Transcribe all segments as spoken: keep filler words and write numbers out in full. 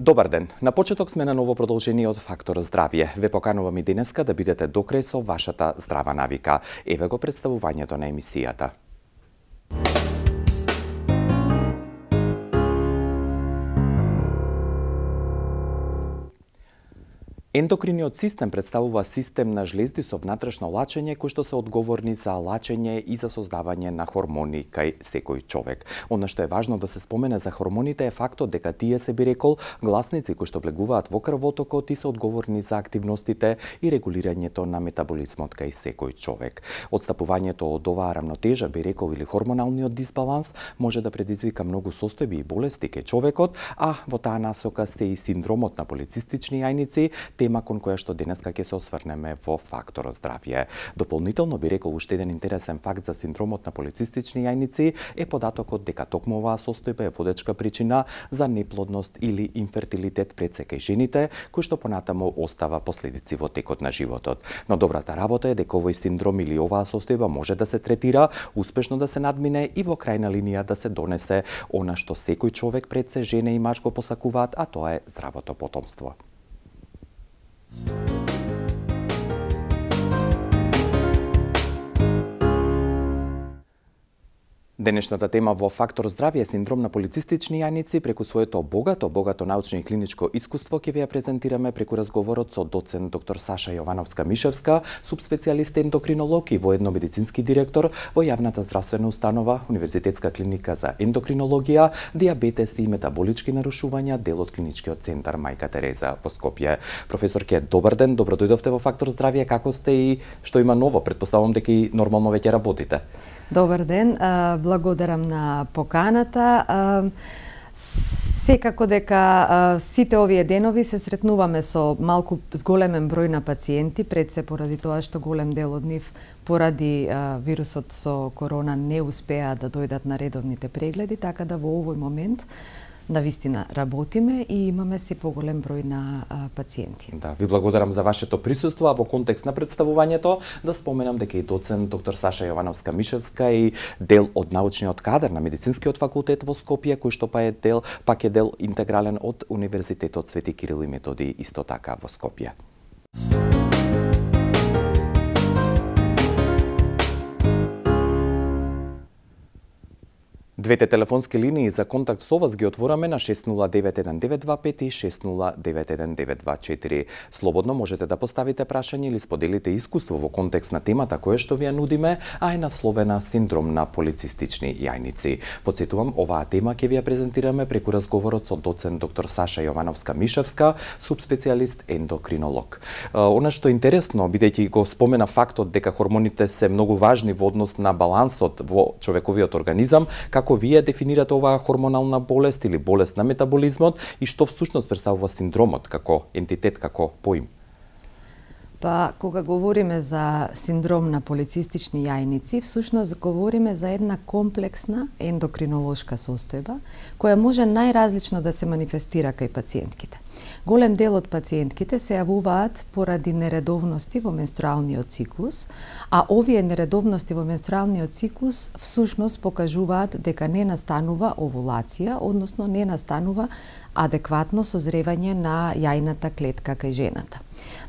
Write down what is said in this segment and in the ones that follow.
Добар ден. На почеток сме на ново продолжение од Фактор здравје. Ве поканувам и денеска да бидете до крај со вашата здрава навика. Еве го представувањето на емисијата. Ендокриниот систем представува систем на жлезди со внатрешно лачење кои што се одговорни за лачење и за создавање на хормони кај секој човек. Она што е важно да се спомене за хормоните е фактот дека тие се би рекол гласници кои што влегуваат во крвотокот и се одговорни за активностите и регулирањето на метаболизмот кај секој човек. Отстапувањето од оваа рамнотежа, би рекол, или хормоналниот дисбаланс може да предизвика многу состојби и болести кај човекот, а во таа насока се и синдромот на полицистични јајници, тема кон која што денеска ќе се осврнеме во Фактор здравје. Дополнително би рекол уште еден интересен факт за синдромот на полицистични јајници е податокот дека токму оваа состојба е водечка причина за неплодност или инфертилитет пред се кај жените, кој што понатаму остава последици во текот на животот. Но добрата работа е дека овој синдром или оваа состојба може да се третира, успешно да се надмине и во крајна линија да се донесе она што секој човек пред се, жена и маж, го посакуваат, а тоа е здравото потомство. Денешната тема во Фактор здравје е синдром на полицистични јајници. Преку своето богато, богато научно и клиничко искуство ќе ви ја презентираме преку разговорот со доцент доктор Саша Јовановска-Мишевска, субспецијалист ендокринолог и воедно медицински директор во јавната здравствена установа Универзитетска клиника за ендокринологија, дијабетес и метаболички нарушувања, дел од клиничкиот центар Мајка Тереза во Скопје. Професорке, добар ден, добро дојдовте во Фактор здравје. Како сте и што има ново? Претпоставувам дека и нормално веќе работите. Добар ден, благодарам на поканата. Секако дека сите овие денови се сретнуваме со малку зголемен број на пациенти, пред се поради тоа што голем дел од нив поради вирусот со корона не успеа да дојдат на редовните прегледи, така да во овој момент на вистина работиме и имаме се поголем број на а, пациенти. Да, ви благодарам за вашето присуство, а во контекст на представувањето да споменам дека и доцент доктор Саша Јовановска-Мишевска и дел од научниот кадар на медицинскиот факултет во Скопје, кој што па е дел, пак е дел интегрален од Универзитетот Свети Кирил и Методи исто така во Скопје. Двете телефонски линии за контакт со вас ги отвораме на шест нула девет еден девет два пет и шест нула девет еден девет два четири. Слободно можете да поставите прашање или споделите искуство во контекст на темата која што ви ја нудиме, а е насловена синдром на полицистични јајници. Потсетувам, оваа тема ќе ви ја презентираме преку разговорот со доцент доктор Саша Јовановска-Мишевска, субспецијалист ендокринолог. Она што е интересно, бидејќи го спомена фактот дека хормоните се многу важни во однос на балансот во човековиот организам, како вие дефинирате оваа хормонална болест или болест на метаболизмот и што всушност представува синдромот како ентитет, како поим? Па, кога говориме за синдром на полицистични јајници, всушност говориме за една комплексна ендокринолошка состојба, која може најразлично да се манифестира кај пациентките. Голем дел од пациентките се јавуваат поради нередовности во менструалниот циклус, а овие нередовности во менструалниот циклус всушност покажуваат дека не настанува овулација, односно не настанува адекватно созревање на јајната клетка кај жената.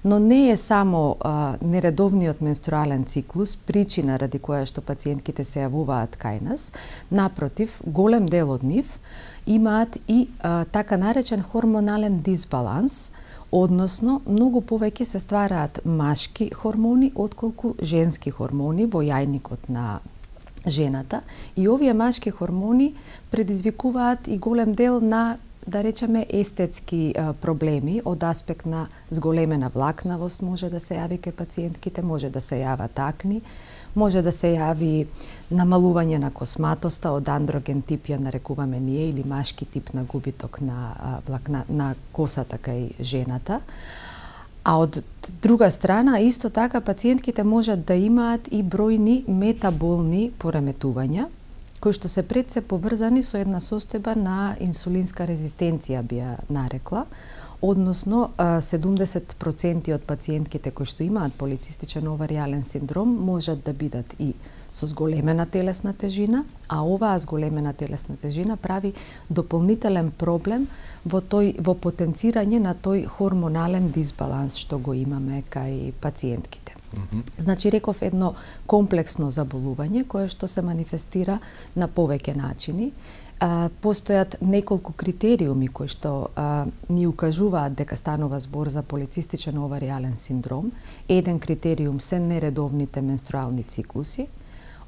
Но не е само а, нередовниот менструален циклус причина ради која што пациентките се јавуваат кај нас. Напротив, голем дел од нив имаат и а, така наречен хормонален дисбаланс, односно многу повеќе се ствараат машки хормони отколку женски хормони во јајникот на жената, и овие машки хормони предизвикуваат и голем дел на, да речеме, естетски а, проблеми од аспект на зголемена влакнавост може да се јави кај пациентките, може да се јават акни, може да се јави намалување на косматоста од андроген тип, ја нарекуваме ние, или машки тип на губиток на а, влакна, на косата кај жената. А од друга страна, исто така пациентките можат да имаат и бројни метаболни пореметувања, кои што се пред се поврзани со една состојба на инсулинска резистенција, би ја нарекла, односно седумдесет проценти од пациентките кои што имаат полицистичен оваријален синдром можат да бидат и со зголемена телесна тежина, а оваа зголемена телесна тежина прави дополнителен проблем во тој во потенцирање на тој хормонален дисбаланс што го имаме кај пациентките. Mm-hmm. Значи, реков, едно комплексно заболување кое што се манифестира на повеќе начини. А, постојат неколку критериуми кои што а, ни укажуваат дека станува збор за полицистичен оваријален синдром. Еден критериум се нередовните менструални циклуси,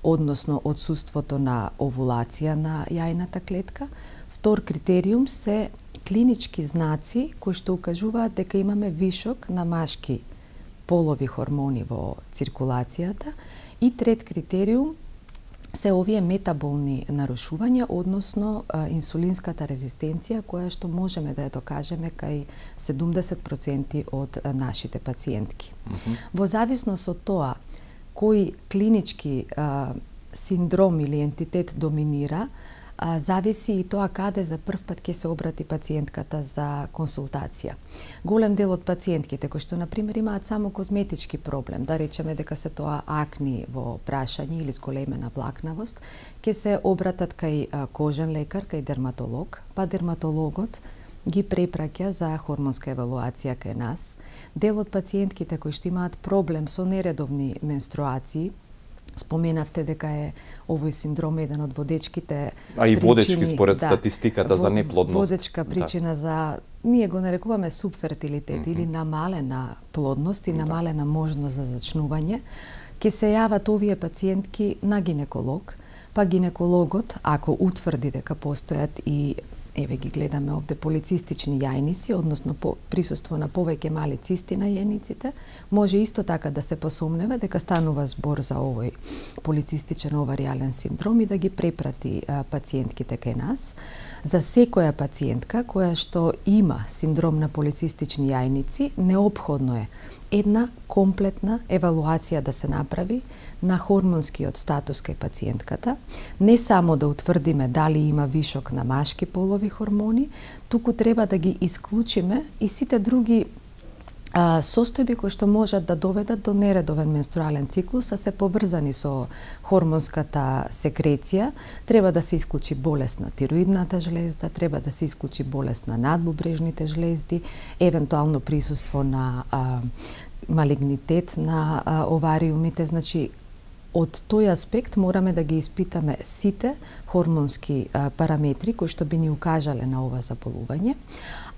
односно отсуството на овулација на јајната клетка. Втор критериум се клинички знаци кои што укажуваат дека имаме вишок на машки полови хормони во циркулацијата. И трет критериум се овие метаболни нарушувања, односно а, инсулинската резистенција, која што можеме да ја докажеме кај седумдесет проценти од а, нашите пациентки. Mm-hmm. Во зависност од тоа кој клинички а, синдром или ентитет доминира, а, зависи и тоа каде за прв пат ќе се обрати пациентката за консултација. Голем дел од пациентките кои што на пример имаат само козметички проблем, да речеме дека се тоа акни во прашање или зголемена влакнавост, ќе се обратат кај а, кожен лекар, кај дерматолог, па дерматологот ги препраќа за хормонска евалуација кај нас. Дел од пациентките кои што имаат проблем со нередовни менструации, споменавте дека е овој синдром еден од водечките а и причини, водечки според да, статистиката за неплодност. Водечка причина да. за ние го нарекуваме субфертилитет mm-hmm. или намалена плодност и намалена да. можност за зачнување. Ќе се јават овие пациентки на гинеколог, па гинекологот ако утврди дека постојат и еве ги гледаме овде полицистични јајници, односно по присуство на повеќе мали цисти на јајниците, може исто така да се посомнева дека станува збор за овој полицистичен оваријален синдром и да ги препрати а, пациентките кај нас. За секоја пациентка која што има синдром на полицистични јајници, неопходно е една комплетна евалуација да се направи на хормонскиот статус кај пациентката, не само да утврдиме дали има вишок на машки полови хормони, туку треба да ги исклучиме и сите други а, состојби кои што можат да доведат до нередовен менструален циклус, а се поврзани со хормонската секреција. Треба да се исклучи болест на тироидната жлезда, треба да се исклучи болест на надбубрежните жлезди, евентуално присуство на а, малигнитет на а, овариумите. Значи, од тој аспект мораме да ги испитаме сите хормонски а, параметри кои што би ни укажале на ова заболување.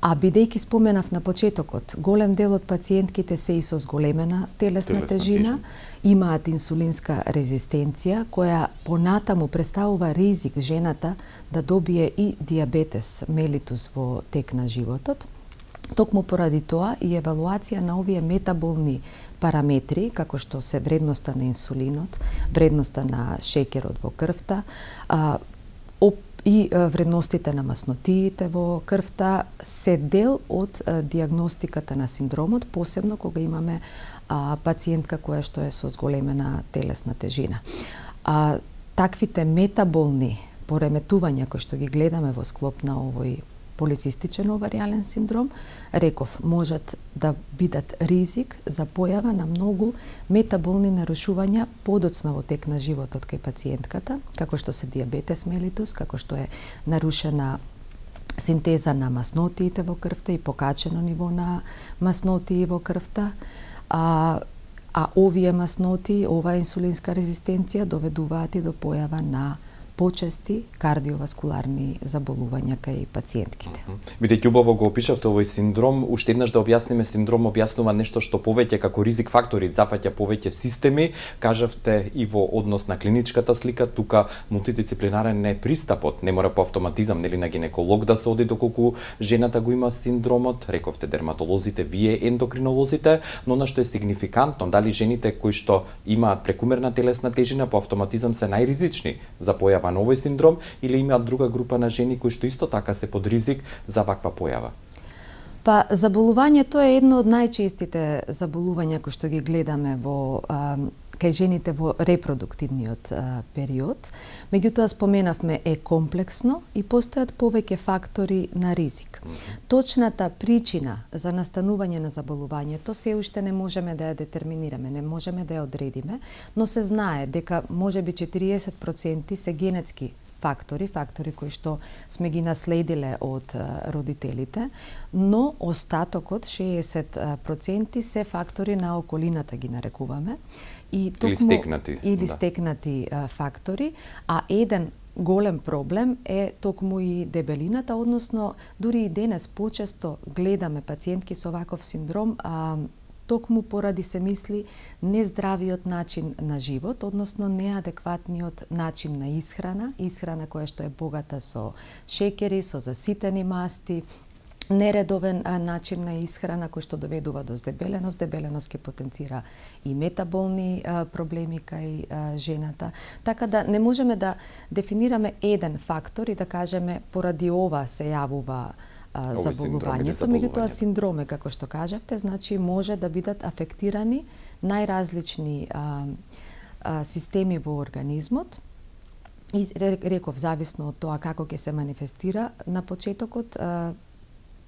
А бидејќи споменав на почетокот, голем дел од пациентките се и со зголемена телесна, телесна тежина, тежина, имаат инсулинска резистенција, која понатаму представува ризик жената да добие и диабетес мелитус во тек на животот. Токму поради тоа и евалуација на овие метаболни параметри, како што се вредноста на инсулинот, вредноста на шеќерот во крвта, а, и вредностите на маснотиите во крвта, се дел од а, диагностиката на синдромот, посебно кога имаме а, пациентка која што е со зголемена телесна тежина. А, таквите метаболни пореметувања кои што ги гледаме во склоп на овој полицистичен оваријален синдром, реков, можат да бидат ризик за појава на многу метаболни нарушувања подоцна во тек на животот кај пациентката, како што се диабетес мелитус, како што е нарушена синтеза на маснотиите во крвта и покачено ниво на маснотии во крвта, а, а овие масноти, оваа инсулинска резистенција доведуваат и до појава на почести кардиоваскуларни заболувања кај пациентките. Бидејќи убаво го опишавте овој синдром, уште еднаш да објасниме, синдром објаснува нешто што повеќе како ризик фактори зафаќа повеќе системи. Кажавте и во однос на клиничката слика, тука мултидисциплинарен е пристапот, не мора по автоматизам нели на гинеколог да се оди доколку жената го има синдромот, рековте дерматолозите, вие ендокринолозите, но на што е сигнификантно, дали жените кои што имаат прекумерна телесна тежина по автоматизам се најризични за појава на овој синдром или имаат друга група на жени кои што исто така се под ризик за ваква појава? Па, заболувањето е едно од најчестите заболувања кои што ги гледаме во а, кај жените во репродуктивниот а, период. Меѓутоа, споменавме, е комплексно и постојат повеќе фактори на ризик. Точната причина за настанување на заболувањето се уште не можеме да ја детерминираме, не можеме да ја одредиме, но се знае дека можеби четириесет проценти се генетски фактори, фактори кои што сме ги наследиле од родителите, но остатокот, шеесет проценти, се фактори на околината ги нарекуваме. И токму, или стекнати. Или да. стекнати а, фактори, а еден голем проблем е токму и дебелината, односно дури и денес почесто гледаме пациентки со ваков синдром, а, токму поради се мисли нездравиот начин на живот, односно неадекватниот начин на исхрана, исхрана која што е богата со шекери, со заситени масти, нередовен а, начин на исхрана кој што доведува до здебеленост, дебеленост ќе потенцира и метаболни а, проблеми кај а, жената. Така да не можеме да дефинираме еден фактор и да кажеме поради ова се јавува а, заболувањето, меѓутоа синдроме, како што кажавте, значи може да бидат афектирани најразлични а, а, системи во организмот. И реков, зависно од тоа како ќе се манифестира на почетокот, а,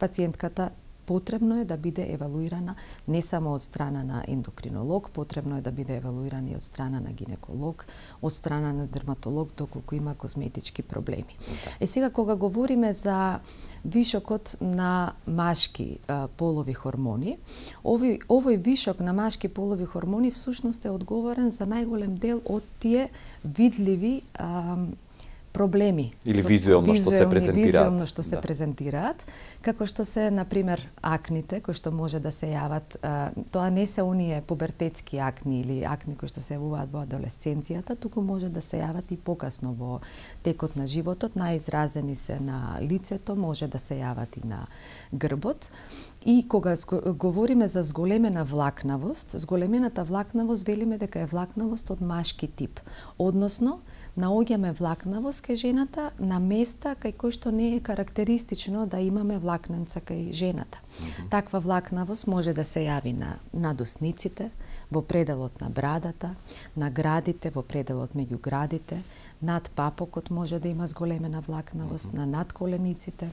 пациентката потребно е да биде евалуирана не само од страна на ендокринолог, потребно е да биде евалуирана и од страна на гинеколог, од страна на дерматолог, доколку има козметички проблеми. Е сега, кога говориме за вишокот на машки а, полови хормони, овој, овој вишок на машки полови хормони всушност е одговорен за најголем дел од тие видливи а, проблеми или визуелно што се презентираат. Визуелно што се да. презентираат, како што се, например, акните, кои што може да се јават, а, тоа не се оние пубертетски акни или акни кои што се јавуваат во адолесценцијата, туку може да се јават и покасно во текот на животот, најизразени се на лицето, може да се јават и на грбот. И кога говориме за зголемена влакнавост, зголемената влакнавост велиме дека е влакнавост од машки тип, односно наоѓаме влакнавост кај жената на места кај кои што не е карактеристично да имаме влакненца кај жената. Mm-hmm. Таква влакнавост може да се јави на надусниците, во пределот на брадата, на градите, во пределот меѓу градите, над папокот може да има зголемена влакнавост, mm-hmm. на надколениците,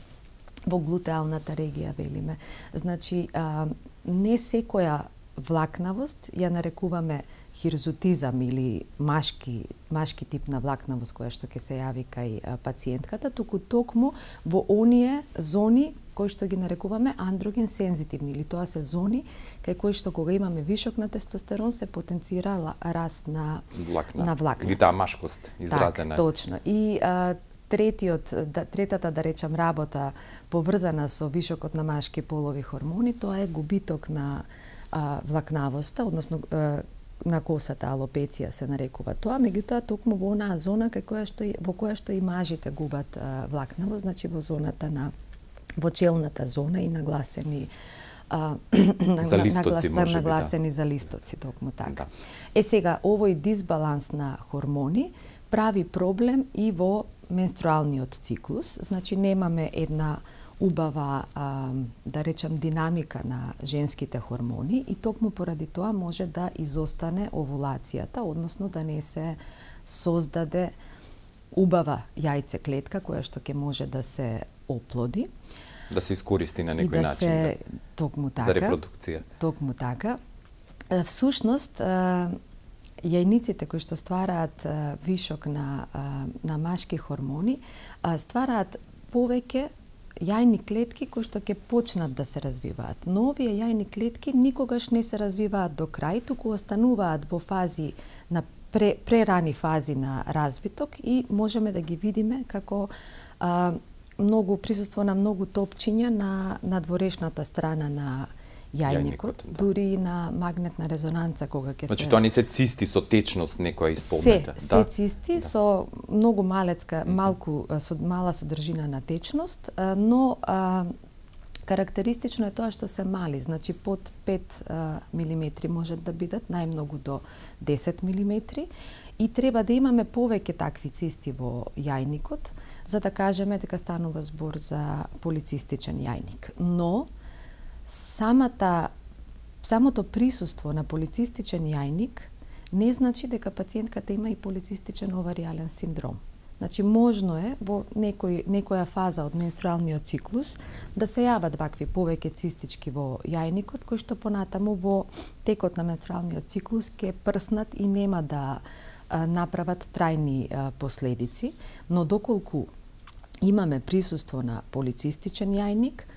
во глутеалната регија велиме. Значи, а, не секоја влакнавост ја нарекуваме хирзутизам или машки, машки тип на влакнавост која што ќе се јави кај а, пациентката, туку токму во оние зони кои што ги нарекуваме андроген сензитивни, или тоа се зони кај кои што кога имаме вишок на тестостерон се потенцира раст на влакна. На влакна. Или таа машкост изразена. Так, точно. И а, третиот, да, третата, да речам, работа поврзана со вишокот на машки полови хормони, тоа е губиток на а, влакнавоста, односно а, на косата, алопеција се нарекува тоа, меѓутоа токму во онаа зона кај која што во која што и мажите губат а, влакнавост, значи во зоната на во челната зона и нагласени а, за листоци, наглас, може нагласени да. за листоци, токму така. Да. Е сега, овој дисбаланс на хормони прави проблем и во менструалниот циклус, значи немаме една убава, а, да речам, динамика на женските хормони и токму поради тоа може да изостане овулацијата, односно да не се создаде убава јајце клетка која што ќе може да се оплоди. Да се искористи на некој да начин. Се, да, токму така, за репродукција. Токму така. Всушност, јајниците кои што ствараат вишок на, на машки хормони, ствараат повеќе јајни клетки кои што ќе почнат да се развиваат. Но овие јајни клетки никогаш не се развиваат до крај, туку остануваат во фази на пре, прерани фази на развиток и можеме да ги видиме како а, многу присуство на многу топчиња на надворешната страна на јајникот, да. дури на магнетна резонанца кога ќе значи, се... Значи тоа не се цисти со течност некоја исполнета? Се, се да? цисти да. со многу малецка, малку, со мала содржина на течност, но а, карактеристично е тоа што се мали, значи под пет милиметри можат да бидат, најмногу до десет милиметри, и треба да имаме повеќе такви цисти во јајникот, за да кажеме дека станува збор за полицистичен јајник. Но, самата самото присуство на полицистичен јајник не значи дека пациентката има и полицистичен оваријален синдром. Значи, можно е во некој, некоја фаза од менструалниот циклус да се јават вакви повеќе цистички во јајникот, кои што понатаму во текот на менструалниот циклус ќе прснат и нема да а, направат трајни а, последици, но доколку имаме присуство на полицистичен јајник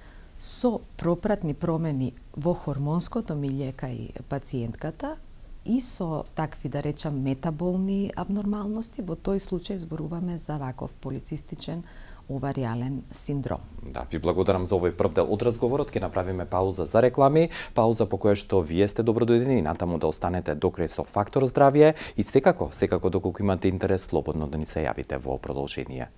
со пропратни промени во хормонското милје кај пациентката, и со такви, да речам, метаболни абнормалности, во тој случај зборуваме за ваков полицистичен оваријален синдром. Да, ви благодарам за овој прв дел од разговорот. Ќе направиме пауза за реклами, пауза по која што вие сте добродојдени и натаму да останете до крај со Фактор здравје и секако, секако доколку имате интерес, слободно да ни се јавите во продолжение.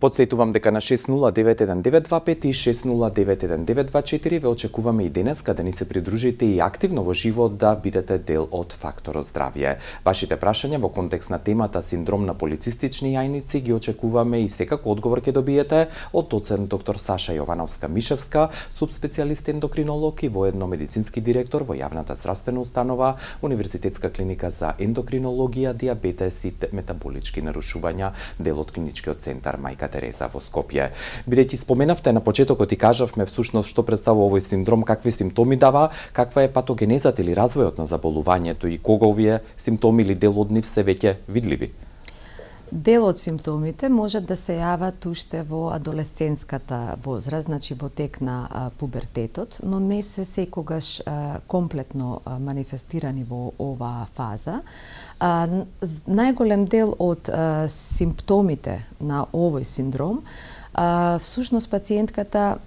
Подсетувам дека на шест нула девет еден девет два пет и шест нула девет еден девет два четири ве очекуваме и денеска да ни се придружите и активно во живот да бидете дел од Фактор здравје. Вашите прашања во контекст на темата синдром на полицистични јајници ги очекуваме и секако одговор ќе добиете од доцент доктор Саша Јовановска-Мишевска, субспецијалист ендокринолог и воедно медицински директор во јавната здравствена установа Универзитетска клиника за ендокринологија, дијабетес и метаболички нарушувања, дел од клиничкиот центар Мајка Тереза во Скопје. Бидејќи споменавте на почетокот и кажавме всушност што представува овој синдром, какви симптоми дава, каква е патогенезата или развојот на заболувањето и кога овие симптоми или дел од нив се веќе видливи? Дел од симптомите може да се јават уште во адолесцентската возраст, значи во тек на а, пубертетот, но не се секогаш а, комплетно а, манифестирани во оваа фаза. А, најголем дел од а, симптомите на овој синдром, а, всушност пациентката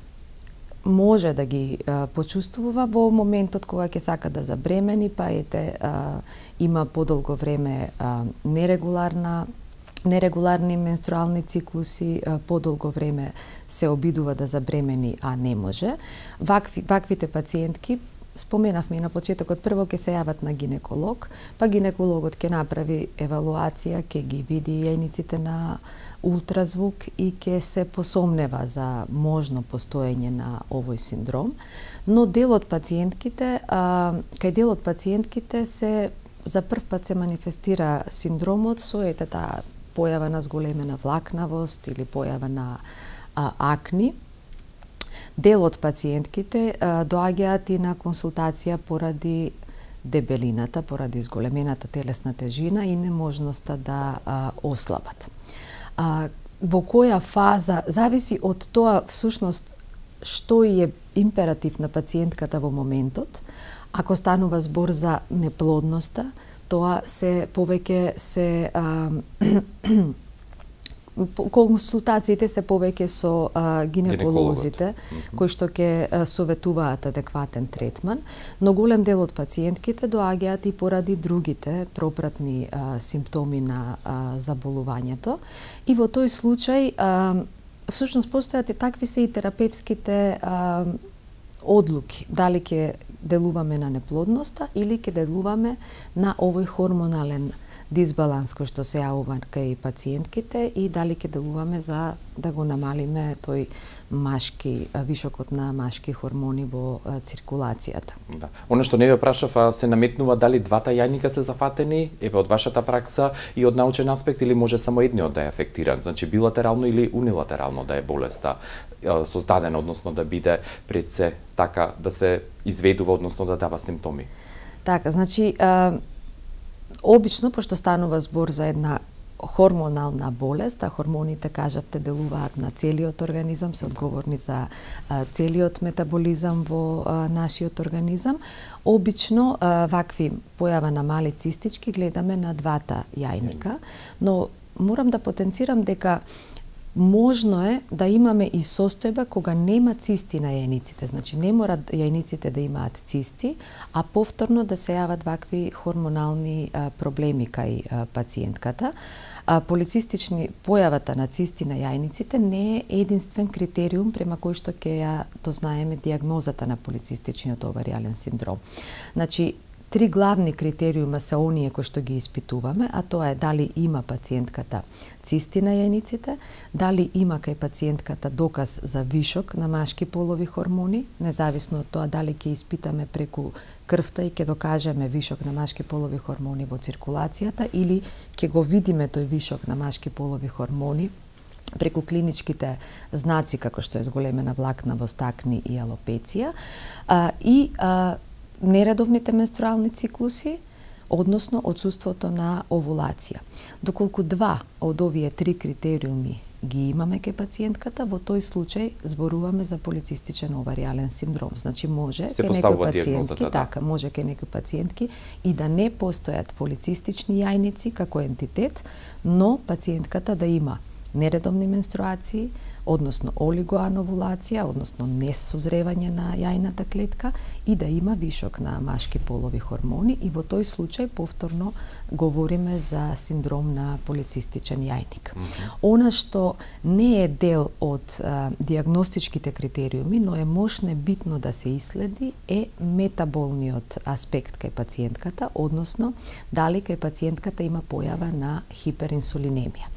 може да ги а, почувствува во моментот кога ќе сака да забремени, па ете а, има подолго време а, нерегуларна нерегуларни менструални циклуси, подолго време се обидува да забремени, а не може. Вакви, ваквите пациентки, споменавме и на почетокот, прво ќе се јават на гинеколог, па гинекологот ќе направи евалуација, ќе ги види јајниците на ултразвук и ќе се посомнева за можно постоење на овој синдром. Но дел од пациентките, а, кај дел од пациентките се за прв пат се манифестира синдромот со ете таа појава на зголемена влакнавост или појава на а, акни. Дел од пациентките а, доаѓаат и на консултација поради дебелината, поради зголемената телесна тежина и неможноста да а, ослабат. А, во која фаза, зависи од тоа всушност што е императив на пациентката во моментот. Ако станува збор за неплодноста, тоа се повеќе се а, консултациите се повеќе со а, гинеколозите кои што ќе советуваат адекватен третман, но голем дел од пациентките доаѓаат и поради другите пропратни а, симптоми на а, заболувањето и во тој случај а, всушност постојат и такви се и терапевските а, одлуки, дали ќе делуваме на неплодноста или ќе делуваме на овој хормонален дисбаланс кој што се јавува кај пациентките и дали ќе делуваме за да го намалиме тој машки, вишокот на машки хормони во циркулацијата. Да. Оно што не ве прашав, се наметнува дали двата јајника се зафатени, еве од вашата пракса и од научен аспект, или може само едниот да е афектиран, значи билатерално или унилатерално да е болеста создадена, односно да биде пред се така да се изведува, односно да дава симптоми. Така, значи обично, пошто станува збор за една хормонална болест, а хормоните, кажавте, делуваат на целиот организам, се одговорни за а, целиот метаболизам во а, нашиот организам. Обично, а, вакви појава на мали цистички гледаме на двата јајника, но морам да потенцирам дека можно е да имаме и состојба кога нема цисти на јајниците. Значи, не мора јајниците да имаат цисти, а повторно да се јават вакви хормонални а, проблеми кај а, пациентката. А, полицистични, појавата на цисти на јајниците не е единствен критериум према кој што ќе ја дознаеме дијагнозата на полицистичниот оваријален синдром. Значи, три главни критериума се оние кои што ги испитуваме, а тоа е дали има пациентката цисти на јајниците, дали има кај пациентката доказ за вишок на машки полови хормони, независно од тоа дали ќе испитаме преку крвта и ќе докажеме вишок на машки полови хормони во циркулацијата или ќе го видиме тој вишок на машки полови хормони преку клиничките знаци како што е зголемена влакна во стакни и алопеција, а, и а, нередовните менструални циклуси, односно отсуството на овулација. Доколку два од овие три критериуми ги имаме кај пациентката, во тој случај зборуваме за полицистичен оваријален синдром. Значи може кај некои пациентки, да. така, може кај некои пациентки и да не постојат полицистични јајници како ентитет, но пациентката да има нередовни менструации, односно олигоановулација, односно несозревање на јајната клетка и да има вишок на машки полови хормони и во тој случај повторно говориме за синдром на полицистичен јајник. Mm -hmm. Она што не е дел од а, диагностичките критериуми, но е мошне битно да се исследи е метаболниот аспект кај пациентката, односно дали кај пациентката има појава на хиперинсулинемија.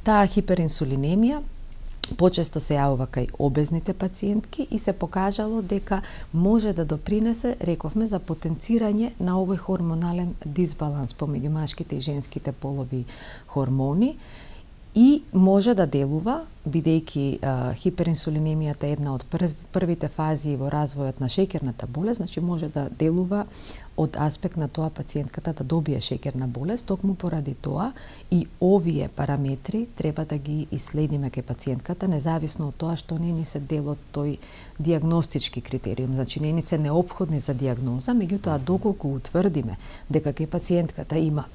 Таа хиперинсулинемија почесто се јавува кај обезните пациентки и се покажало дека може да допринесе, рековме, за потенцирање на овој хормонален дисбаланс помеѓу машките и женските полови хормони и може да делува, бидејќи хиперинсулинемијата е една од првите фази во развојот на шеќерната болест, значи може да делува од аспект на тоа пациентката да добие шеќерна болест, токму поради тоа и овие параметри треба да ги исследиме кај пациентката, независно од тоа што не ни се дел од тој диагностички критериум, значи не ни се неопходни за диагноза, меѓутоа доколку утврдиме дека кај пациентката има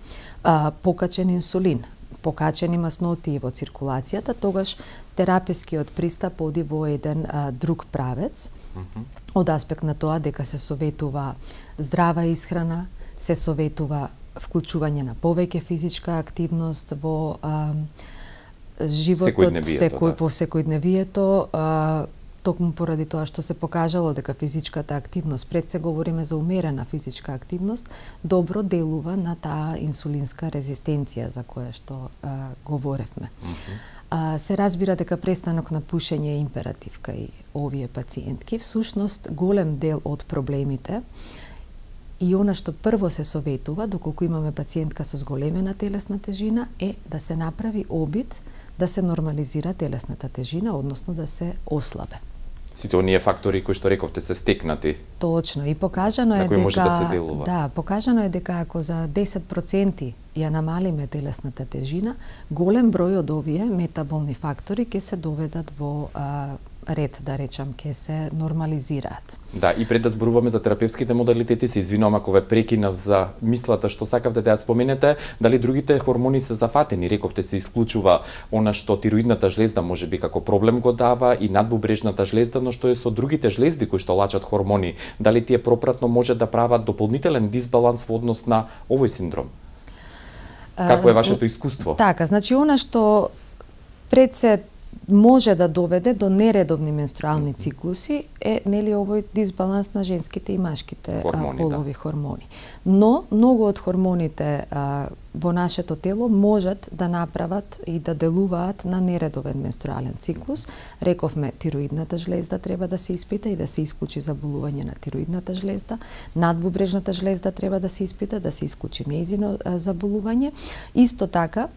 а, покачен инсулин, покачени маснотии во циркулацијата, тогаш терапевскиот пристап оди во еден а, друг правец, mm -hmm. од аспект на тоа дека се советува здрава исхрана, се советува вклучување на повеќе физичка активност во а, животот, секој, во секојдневието, а, токму поради тоа што се покажало дека физичката активност, пред се говориме за умерена физичка активност, добро делува на таа инсулинска резистенција за која што а, говоревме. Mm -hmm. а, се разбира дека престанок на пушење е императив кај овие пациентки. Всушност, голем дел од проблемите и она што прво се советува, доколку имаме пациентка со зголемена телесна тежина, е да се направи обид да се нормализира телесната тежина, односно да се ослабе. Сите оние фактори кои што рековте се стекнати. Точно, и покажано е дека може да се делува. Да, покажано е дека ако за десет проценти ја намалиме телесната тежина, голем број од овие метаболни фактори ќе се доведат во а, ред, да речам, ќе се нормализираат. Да, и пред да зборуваме за терапевските модалитети, се извинувам ако ве прекинав за мислата што сакавте да ја споменете, дали другите хормони се зафатени? Рековте се исклучува она што тироидната жлезда можеби како проблем го дава и надбубрежната жлезда, но што е со другите жлезди кои што лачат хормони, дали тие пропратно може да прават дополнителен дисбаланс во однос на овој синдром? Како е вашето искуство? Така, значи она што пред се може да доведе до нередовни менструални циклуси е нели овој дисбаланс на женските и машките хормони, а, полови да. хормони. Но многу од хормоните а, во нашето тело можат да направат и да делуваат на нередовен менструален циклус. Рековме, тироидната жлезда треба да се испита и да се исклучи заболување на тироидната жлезда. Надбубрежната жлезда треба да се испита, да се исклучи нејзино заболување. Исто така,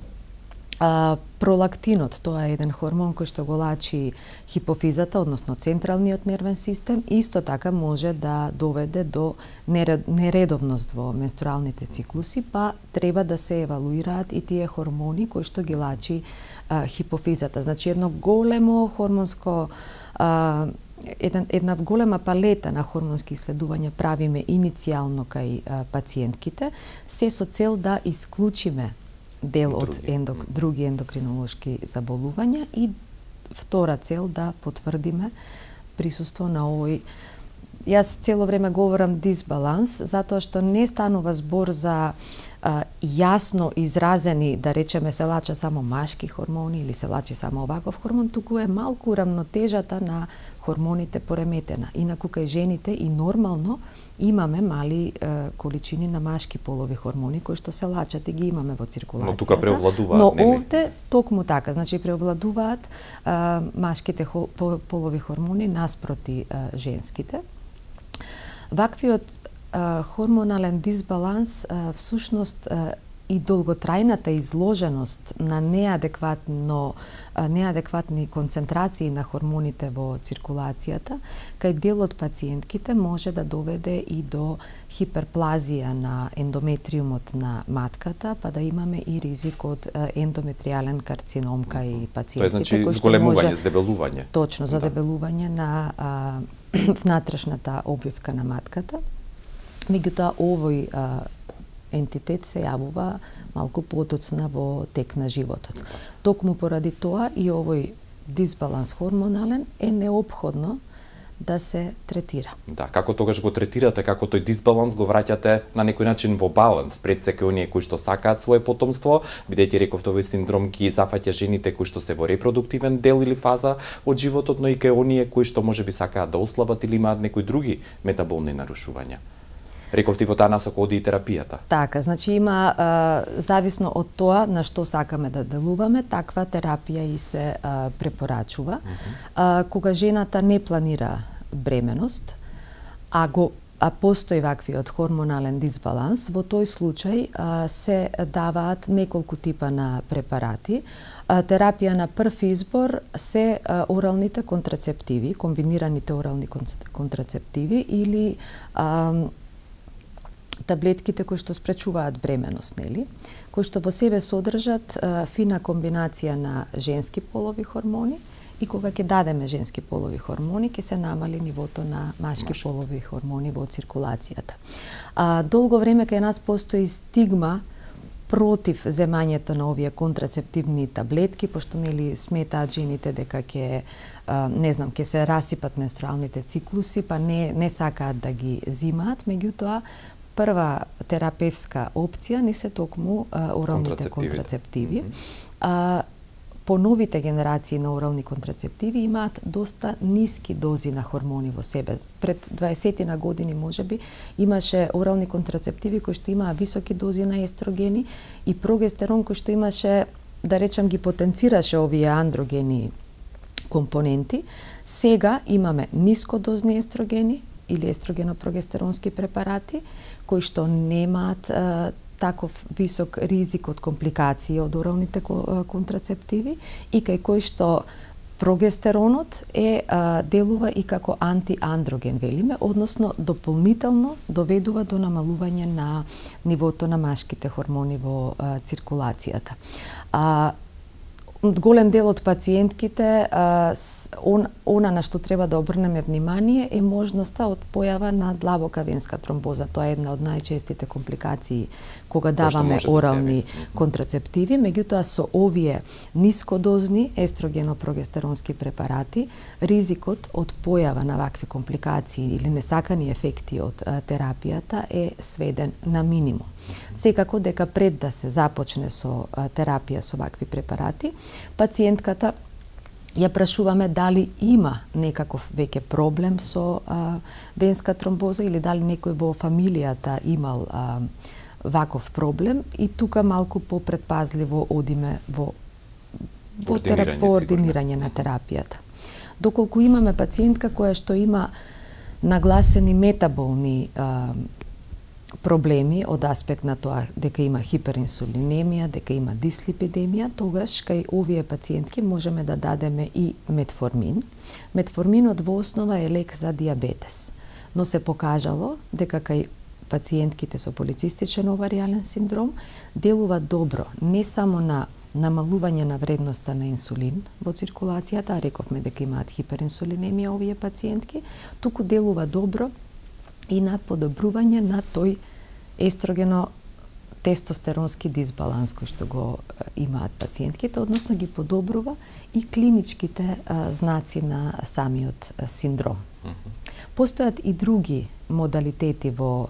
А, пролактинот, тоа е еден хормон кој што го лачи хипофизата, односно централниот нервен систем, исто така може да доведе до нередовност во менструалните циклуси, па треба да се евалуираат и тие хормони кои што ги лачи а, хипофизата. Значи едно големо хормонско а, Една, една голема палета на хормонски исследувања правиме иницијално кај а, пациентките, се со цел да исклучиме дел од ендок, други ендокринолошки заболувања и втора цел да потврдиме присуство на овој јас цело време говорам дисбаланс, затоа што не станува збор за а, јасно изразени, да речеме, се лача само машки хормони или се лачи само оваков хормон, туку е малку рамнотежата на хормоните пореметена. Инаку кај жените и нормално имаме мали е, количини на машки полови хормони кои што се лачат и ги имаме во циркулацијата. Но тука преовладуваат, Но нели? овде токму така, значи преовладуваат е, машките хол, полови хормони наспроти е, женските. Ваквиот е, хормонален дисбаланс е, всушност е, и долготрајната изложеност на неадекватно неадекватни концентрации на хормоните во циркулацијата, кај дел од пациентките може да доведе и до хиперплазија на ендометриумот на матката, па да имаме и ризик од ендометриален карцином кај пациентите. Тоа е, значи, кој што зголемување, може, здебелување. Точно, за да. дебелување на а, внатрешната обвивка на матката. Меѓутоа, овој а, ентитет се јавува малку подоцна во тек на животот. Токму поради тоа и овој дисбаланс хормонален е неопходно да се третира. Да, како тогаш го третирате, како тој дисбаланс го враќате на некој начин во баланс пред секој оние кои што сакаат свое потомство, бидејќи реков овој синдром ги зафаќа жените кои што се во репродуктивен дел или фаза од животот, но и кај оние кои што можеби сакаат да ослабат или имаат некои други метаболни нарушувања. Рековти во таа насока оди и терапијата. Така, значи има а, зависно од тоа на што сакаме да делуваме, таква терапија и се а, препорачува. Mm -hmm. а, кога жената не планира бременост, а го а постои ваквиот хормонален дисбаланс, во тој случај а, се даваат неколку типа на препарати. А, терапија на прв избор се а, оралните контрацептиви, комбинираните орални контрацептиви или а, таблетките кои што спречуваат бременост, нели? Кои што во себе содржат а, фина комбинација на женски полови хормони и кога ќе дадеме женски полови хормони, ќе се намали нивото на машки Маш. полови хормони во циркулацијата. А, долго време кај нас постои стигма против земањето на овие контрацептивни таблетки, пошто нели сметаат жените дека ќе не знам, ќе се расипат менструалните циклуси, па не не сакаат да ги зимаат, меѓутоа прва терапевска опција не се токму а, оралните контрацептиви. Mm -hmm. а, по новите генерации на орални контрацептиви имаат доста ниски дози на хормони во себе. Пред дваесет на години можеби имаше орални контрацептиви кои што имаа високи дози на естрогени и прогестерон кој што имаше, да речам, ги потенцираше овие андрогени компоненти. Сега имаме нискодозни естрогени или естрогено-прогестеронски препарати кои што немаат таков висок ризик од компликации од оралните контрацептиви и кај кој што прогестеронот е а, делува и како антиандроген, велиме, односно дополнително доведува до намалување на нивото на машките хормони во а, циркулацијата. А, голем дел од пациентките, а, он, она на што треба да обрнеме внимание е можноста од појава на длабока венска тромбоза. Тоа е една од најчестите компликации кога даваме орални да контрацептиви, меѓутоа со овие нискодозни естрогено-прогестеронски препарати, ризикот од појава на вакви компликации или несакани ефекти од а, терапијата е сведен на минимум. Секако дека пред да се започне со а, терапија со вакви препарати, пациентката ја прашуваме дали има некаков веќе проблем со а, венска тромбоза или дали некој во фамилијата имал а, ваков проблем и тука малку попредпазливо одиме во во терап... ординирање на терапијата. Доколку имаме пациентка која што има нагласени метаболни а, проблеми од аспект на тоа дека има хиперинсулинемија, дека има дислипидемија, тогаш кај овие пациентки можеме да дадеме и метформин. Метформинот во основа е лек за диабетес, но се покажало дека кај пациентките со полицистичен оваријален синдром делува добро не само на намалување на вредноста на инсулин во циркулацијата, рековме дека имаат хиперинсулинемија овие пациентки, туку делува добро и на подобрување на тој естрогено тестостеронски дисбаланс кој што го имаат пациентките, односно ги подобрува и клиничките а, знаци на самиот а, синдром. Mm-hmm. Постојат и други модалитети во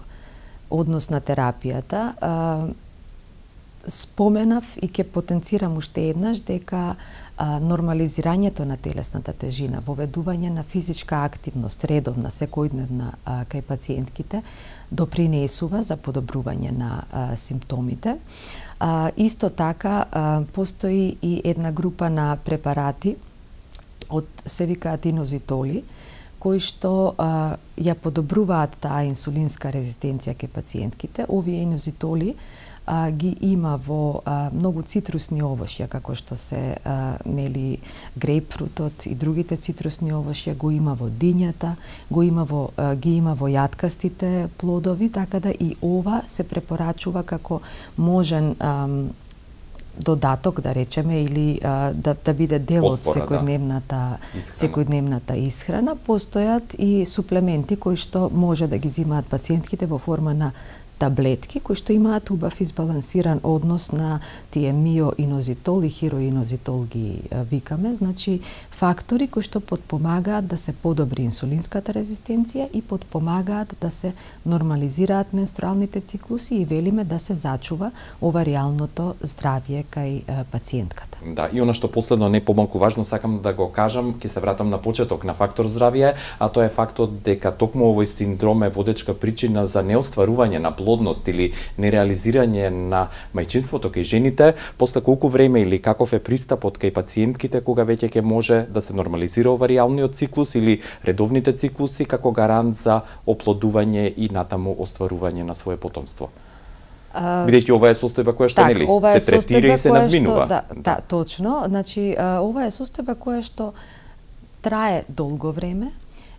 однос на терапијата. А, споменав и ќе потенцирам уште еднаш дека а, нормализирањето на телесната тежина, воведување на физичка активност, редовна, секојдневна а, кај пациентките, допринесува за подобрување на а, симптомите. А, исто така, а, постои и една група на препарати од се викаат инозитоли, кои што а, ја подобруваат таа инсулинска резистенција кај пациентките. Овие инозитоли а, ги има во а, многу цитрусни овошја, како што се а, нели грейпфрутот и другите цитрусни овошја, го има во дињата, го има во а, ги има во јаткастите плодови, така да и ова се препорачува како можен а, додаток, да речеме, или а, да, да биде дел од секојдневната да. секојдневната исхрана. Постојат и суплементи кои што може да ги земаат пациентките во форма на таблетки кои што имаат убав избалансиран однос на тие миоинозитол и хироинозитол ги викаме, значи фактори кои што потпомагаат да се подобри инсулинската резистенција и потпомагаат да се нормализираат менструалните циклуси и велиме да се зачува ова реалното здравје кај пациентката. Да, и она што последно не помалку важно сакам да го кажам, ќе се вратам на почеток на фактор здравје, а тоа е фактот дека токму овој синдром е водечка причина за неостварување на плодност или нереализирање на мајчинството кај жените. После колку време или каков е пристапот кај пациентките кога веќе ќе може да се нормализира ова реалниот циклус или редовните циклуси како гарант за оплодување и натаму остварување на свое потомство? Бидејќи ова е состојба која што так, нели ова е се третира и се надминува. Што, да, да, точно. Значи, ова е состојба која што трае долго време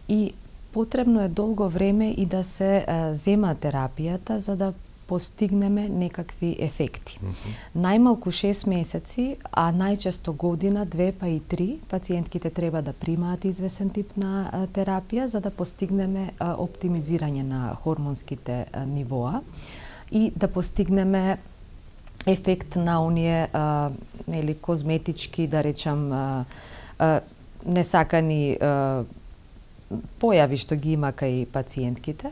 и потребно е долго време и да се а, зема терапијата за да постигнеме некакви ефекти. Mm-hmm. Најмалку шест месеци, а најчесто година, две па и три, пациентките треба да примаат извесен тип на а, терапија за да постигнеме а, оптимизирање на хормонските а, нивоа и да постигнеме ефект на оние а, нели козметички, да речам, а, а, несакани а, појави што ги има кај пациентките.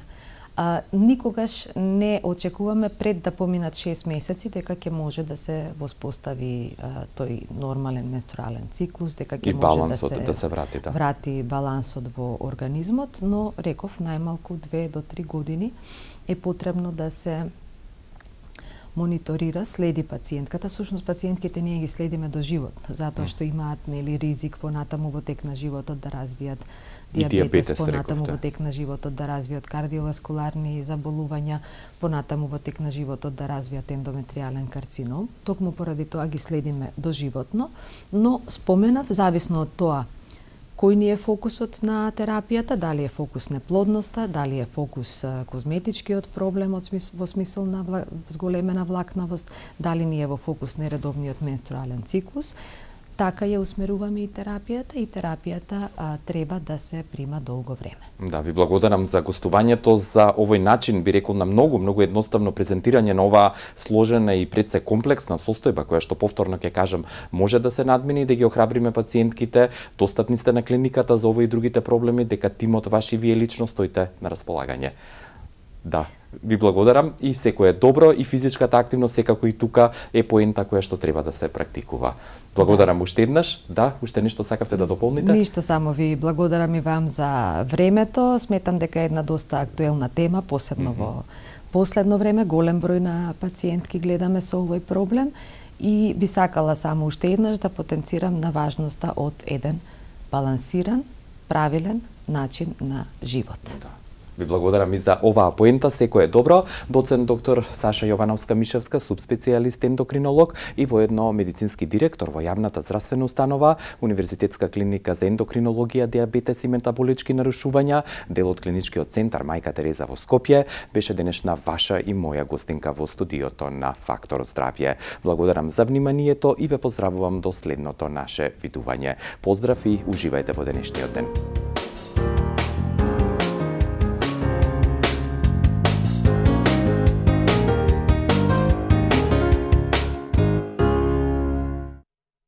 А, никогаш не очекуваме пред да поминат шест месеци дека ќе може да се воспостави а, тој нормален менструален циклус, дека ќе може да се, да се врати, да. врати балансот во организмот, но реков најмалку две до три години е потребно да се мониторира, следи пациентката. Всушност пациентките ние ги следиме до живот, затоа што имаат нели ризик понатаму во тек на животот да развијат диабетес, диабетес понатаму во тек на животот да развијат кардиоваскуларни заболувања, понатаму во тек на животот да развијат ендометриален карцином. Токму поради тоа ги следиме доживотно, но споменав зависно од тоа кој ни е фокусот на терапијата, дали е фокус неплодноста, дали е фокус козметичкиот проблем во смисол на зголемена влакнавост, дали ни е во фокус нередовниот менструален циклус. Така ја усмеруваме и терапијата и терапијата а, треба да се прима долго време. Да, ви благодарам за гостувањето, за овој начин, би рекол, на многу, многу едноставно презентирање на оваа сложена и пред се комплексна состојба, која што повторно ќе кажам, може да се надмини и да ги охрабриме пациентките, достапни сте на клиниката за овој и другите проблеми, дека тимот ваш и вие лично стоите на располагање. Да, ви благодарам и секој е добро и физичката активност секако и тука е поента која што треба да се практикува. Благодарам да. Уште еднаш. Да, уште нешто сакавте да дополните? Ништо, само ви благодарам и вам за времето. Сметам дека е една доста актуелна тема, посебно mm-hmm. во последно време. Голем број на пациентки гледаме со овој проблем и би сакала само уште еднаш да потенцирам на важноста од еден балансиран, правилен начин на живот. Да. Ви благодарам и за оваа поента, секој е добро. Доцент доктор Саша Јовановска-Мишевска, субспецијалист ендокринолог и воедно медицински директор во јавната здравствена установа, Универзитетска клиника за ендокринологија, диабетес и метаболички нарушувања, дел од клиничкиот центар Мајка Тереза во Скопје, беше денешна ваша и моја гостинка во студиото на Фактор здравје. Благодарам за вниманието и ве поздравувам до следното наше видување. Поздрав и уживајте во денешниот ден.